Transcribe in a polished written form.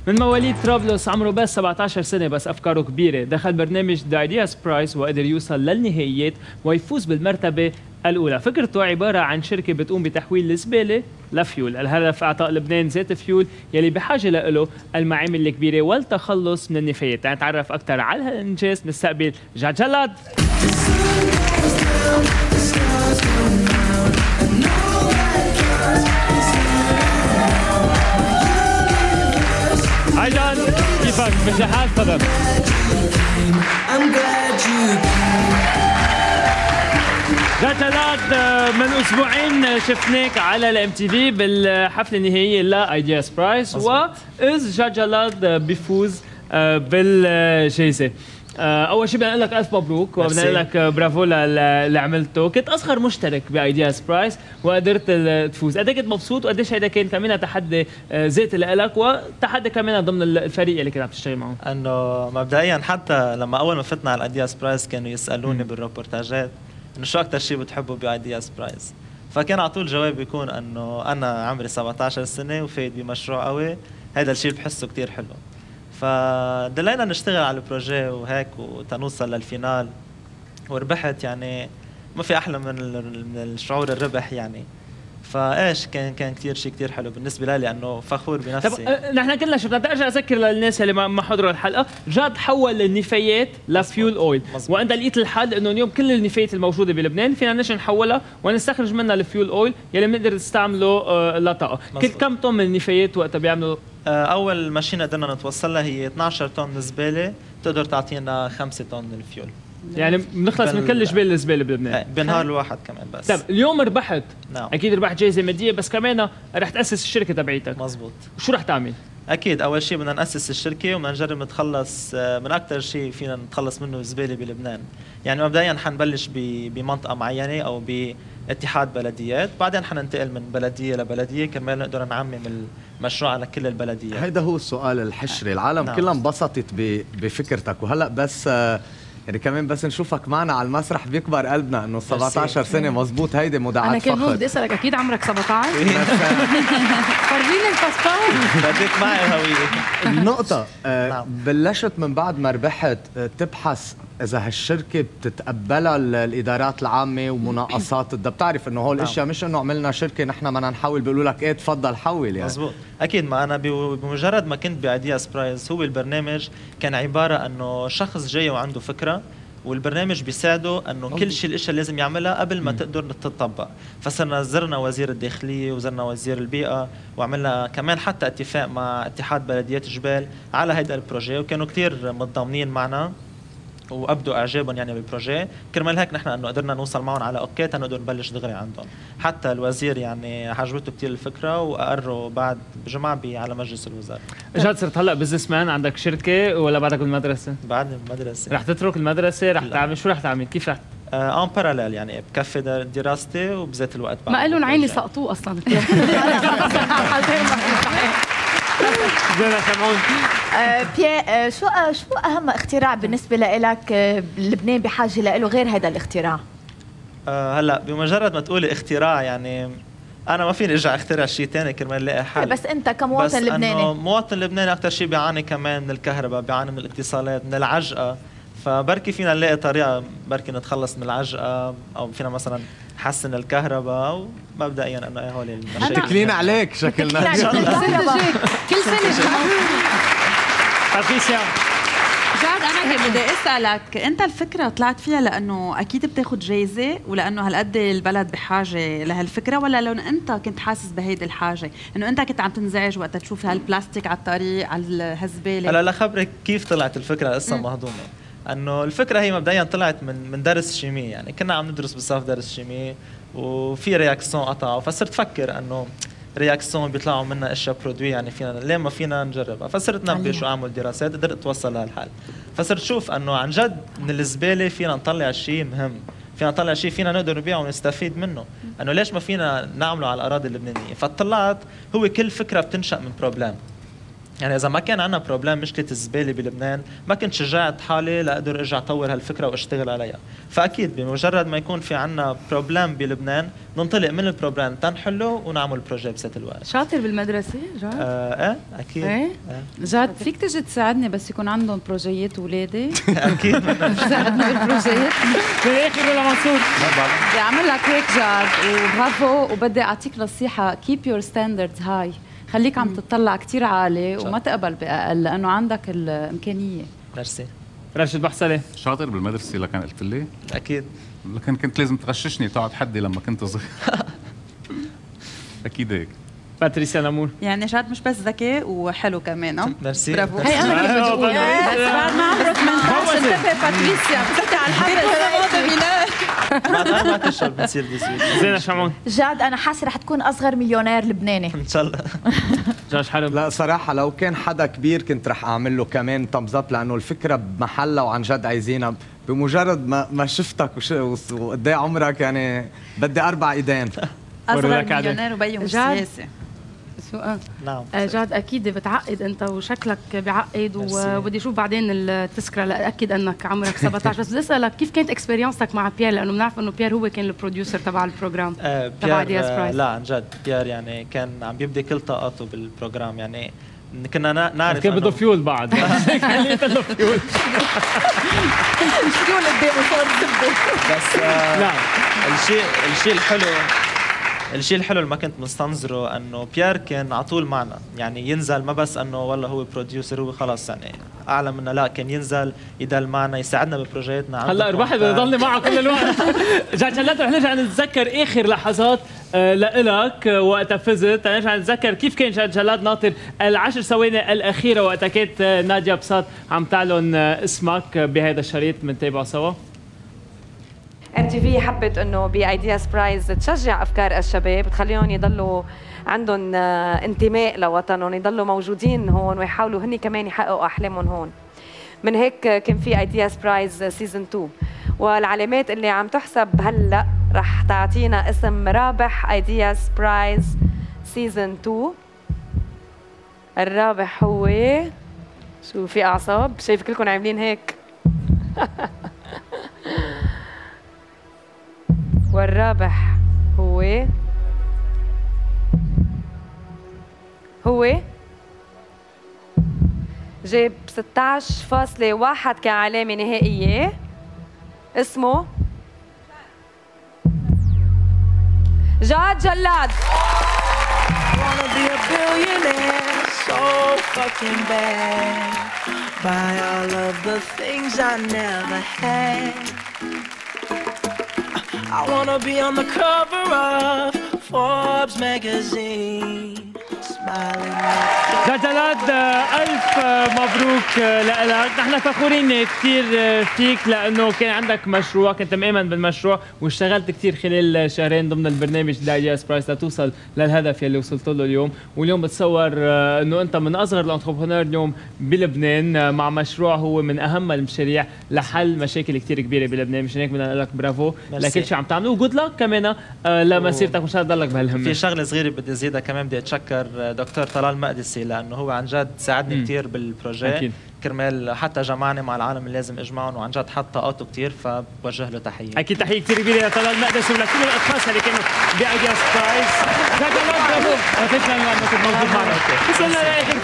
من مواليد طرابلس، عمره بس 17 سنة بس أفكاره كبيرة. دخل برنامج The Ideas Prize وقدر يوصل للنهائيات ويفوز بالمرتبة الأولى. فكرته عبارة عن شركة بتقوم بتحويل الزبالة لفيول. الهدف إعطاء لبنان زيت فيول يلي بحاجة له المعامل الكبيرة والتخلص من النفايات. نتعرف أكثر على هالإنجاز نستقبل جاد جلاد. هاي جان، كيفك؟ مش لحال تفضل. جاد جلاد، من اسبوعين شفناك على الام تي في بالحفله النهائيه لايدياز برايز، واذ جاد جلاد بيفوز بالجائزه. اول شيء بدنا نقول لك الف مبروك وبدنا نقول لك برافو للي عملته. كنت اصغر مشترك بايدياز برايز وقدرت تفوز. قد ايه كنت مبسوط وقديش هيدا كان كمان تحدي ذاتي لك وتحدي كمان ضمن الفريق اللي كنت عم تشتغل معه؟ انه مبدئيا حتى لما اول ما فتنا على الايدياز برايز كانوا يسالوني بالروبورتاجات انه شو اكثر شيء بتحبه بايدياز برايز، فكان على طول جوابي يكون انه انا عمري 17 سنه وفايت بمشروع قوي، هذا الشيء بحسه كثير حلو. فدلينا نشتغل على البروجي وهيك وتنوصل للفينال وربحت. يعني ما في احلى من الشعور الربح يعني. فايش كان كثير شيء كثير حلو بالنسبه لي لانه فخور بنفسي. طب نحن كلنا شفنا. بدي ارجع اذكر للناس اللي ما حضروا الحلقه، جاد حول النفايات لفيول اويل، وانت لقيت الحل انه اليوم كل النفايات الموجوده بلبنان فينا نجي نحولها ونستخرج منها الفيول اويل يلي بنقدر نستعمله لطاقه. كم طن من النفايات وقتها بيعملوا؟ اول ماشينه قدرنا نتوصل لها هي 12 طن زباله تقدر تعطينا 5 طن الفيول. يعني بنخلص من كل جبال الزباله بلبنان بنهار الواحد كمان بس. طيب اليوم ربحت. نعم. اكيد ربحت جائزه ماديه بس كمان رح تاسس الشركه تبعيتك. مزبوط. شو رح تعمل؟ اكيد اول شيء بدنا ناسس الشركه وبدنا نجرب نتخلص من اكثر شيء فينا نتخلص منه الزباله بلبنان. يعني مبدئيا حنبلش بمنطقه معينه او باتحاد بلديات، بعدين حننتقل من بلديه لبلديه كرمال نقدر نعمم المشروع على كل البلديات. هيدا هو السؤال الحشري. العالم نعم. كلها انبسطت بفكرتك، وهلا بس يعني كمان بس نشوفك معنا على المسرح بيكبر قلبنا انه 17 سنه. مزبوط، هيدي مدعاة انا فخر. كان بدي اسالك اكيد عمرك 17؟ فرجيني الباسبور. بدك معي الهويه. النقطة نعم. بلشت من بعد ما ربحت تبحث اذا هالشركة بتتقبلها الادارات العامة ومناقصات. بدها بتعرف انه هول الاشياء مش انه عملنا شركة نحن بدنا نحول بيقولوا لك ايه تفضل حول. يعني مزبوط اكيد. ما انا بمجرد ما كنت بايدياز برايز هو البرنامج كان عبارة انه شخص جاي وعنده فكرة والبرنامج بيساعده انه كل شيء الاشياء اللي لازم يعملها قبل ما تقدر تطبق. فصرنا زرنا وزير الداخليه وزرنا وزير البيئه وعملنا كمان حتى اتفاق مع اتحاد بلديات جبال على هيدا البروجي، وكانوا كثير متضامنين معنا وابدوا اعجابهم يعني بالبروجي. كرمال هيك نحن انه قدرنا نوصل معهم على اوكي تنقدر نبلش دغري عندهم. حتى الوزير يعني عجبته كثير الفكره واقروا بعد بجمعه على مجلس الوزراء. جاد صرت هلا بزنس مان، عندك شركه ولا بعدك بالمدرسه؟ بعد المدرسه. رح تترك المدرسه؟ رح تعمل شو رح تعمل؟ كيف رح ان باراليل يعني بكفي دراستي وبذات الوقت بعد ما قالوا عيني سقطوه اصلا. زينا سمعون. بيير، شو اهم اختراع بالنسبه لك لبنان بحاجه له غير هذا الاختراع؟ هلا بمجرد ما تقولي اختراع يعني انا ما فيني ارجع اخترع شيء ثاني كرمال الاقي حل. بس انت كمواطن لبناني، بس مواطن لبناني اكثر شيء بيعاني كمان من الكهرباء، بيعاني من الاتصالات، من العجقه. فبركي فينا نلاقي طريقه بركي نتخلص من العجقه، او فينا مثلا نحسن الكهرباء. ومبدئيا انه هول المشاكل متكلين عليك شكلنا. كل سنه باتريسيا. جاد انا هيك بدي اسالك، انت الفكره طلعت فيها لانه اكيد بتاخذ جايزه ولانه هالقد البلد بحاجه لهالفكره، ولا لو انت كنت حاسس بهيدي الحاجه انه انت كنت عم تنزعج وقت تشوف هالبلاستيك على الطريق على الهزباله؟ هلا لخبرك كيف طلعت الفكره قصه مهضومه. انه الفكره هي مبدئيا طلعت من درس شيمي، يعني كنا عم ندرس بالصف درس شيمي وفي رياكسيون قطعوا، فصرت فكر انه رياكسيون بيطلعوا منها اشياء برودوي يعني فينا ليه ما فينا نجربها. فصرت نبش واعمل دراسات قدرت اتوصل لهالحل. فصرت شوف انه عن جد من الزباله فينا نطلع شيء مهم، فينا نطلع شيء فينا نقدر نبيعه ونستفيد منه. انه ليش ما فينا نعمله على الاراضي اللبنانيه. فطلعت هو كل فكره بتنشا من بروبلم. يعني اذا ما كان عندنا بروبلم مشكله الزباله بلبنان ما كنت شجعت حالي لاقدر ارجع اطور هالفكره واشتغل عليها. فاكيد بمجرد ما يكون في عندنا بروبلم بلبنان ننطلق من البروبلم تنحله ونعمل بروجي بذات الوقت. شاطر بالمدرسه جاد؟ ايه اكيد. ايه جاد فيك تجي تساعدني بس يكون عندهم بروجيات ولادي؟ اكيد تساعدني بالبروجيات؟ بالاخر ولا منصور؟ بدي اعمل لك هيك جاد وبرافو، وبدي اعطيك نصيحه keep your standards high، خليك عم تطلع كتير عالي وما تقبل بأقل لأنه عندك الإمكانية. ميرسي. راشد بحصلة شاطر بالمدرسة لكن قلت لي؟ أكيد. لكن كنت لازم تغششني تقعد حدي لما كنت صغير. أكيد هيك. باتريسيا نامور. يعني جاد مش بس ذكي وحلو كمان. ميرسي. برافو. هي أنا كنت بقول بس بعد ما عمرك ما انتبه باتريسيا بتحكي على الحبل. بعد 4 أشهر بنصير بسويت. زينة شمعون. جاد انا حاسه رح تكون اصغر مليونير لبناني ان شاء الله. جاج حلب. لا صراحة لو كان حدا كبير كنت رح أعمل له كمان تمز اب لأنه الفكرة بمحلها وعن جد عايزينها. بمجرد ما شفتك وقد ايه عمرك يعني بدي 4 ايدين. أصغر مليونير وبيهم سياسي. نعم. جاد اكيد بتعقد انت وشكلك بعقد وبدي اشوف بعدين التذكره لاتاكد انك عمرك 17 بس بدي اسالك كيف كانت اكسبيرينسك مع بيير لانه بنعرف انه بيير هو كان البروديوسر تبع البروجرام تبع ايدياز برايز. لا عن جد بيير يعني كان عم يبدي كل طاقاته بالبروجرام يعني كنا نعرف كان بده فيول بعد كان بده فيول فيول قدامه صار بس لا الشيء الحلو اللي ما كنت مستنظره انه بيير كان على طول معنا يعني ينزل ما بس انه والله هو بروديوسر هو خلاص يعني اعلى منا لا كان ينزل يضل معنا يساعدنا ببروجياتنا. هلا الواحد بده يضل معه كل الوقت. جاج هلا رح نرجع نتذكر اخر لحظات لإلك وقتها فزت. نرجع نتذكر كيف كان جاج جلاد ناطر ال10 ثواني الاخيره وقتها كانت نادية بساط عم تعلن اسمك بهذا الشريط. بنتابعه سوا. MTV حبت انه بايدياز برايز تشجع افكار الشباب تخليهم يضلوا عندهم انتماء لوطنهم يضلوا موجودين هون ويحاولوا هني كمان يحققوا احلامهم هون. من هيك كان في ايدياز برايز سيزون 2 والعلامات اللي عم تحسب هلا رح تعطينا اسم رابح ايدياز برايز سيزون 2. الرابح هو شو في اعصاب شايف كلكم عاملين هيك. والرابح هو جاب 16.1 كعلامة نهائية. اسمه جاد جلاد. I wanna be on the cover of Forbes magazine. جاد جلاد ألف مبروك لك. نحن فخورين كثير فيك لأنه كان عندك مشروع كنت مؤمن بالمشروع واشتغلت كثير خلال شهرين ضمن البرنامج ايدياز برايز لتوصل للهدف يلي وصلت له اليوم. واليوم بتصور أنه أنت من أصغر الانتربرونور اليوم بلبنان مع مشروع هو من أهم المشاريع لحل مشاكل كثير كبيرة بلبنان. مشان هيك بدنا نقول لك برافو لكل شيء عم تعمله وجود لك كمان لمسيرتك وإن شاء الله تضلك بهالهمة. في شغلة صغيرة بدي أزيدها كمان بدي أتشكر دكتور طلال مقدسي لانه هو عن جد ساعدني كثير بالبروجي كرمال حتى جمعني مع العالم اللي لازم اجمعهم وعن جد حط طاقته كثير فبوجه له تحيه. اكيد تحيه كثير كبيره لطلال مقدسي ولكل الاشخاص اللي كانوا بايدياز برايز. جاد جلاد برافو. تسلم لانك موجود معنا. وصلنا لاخر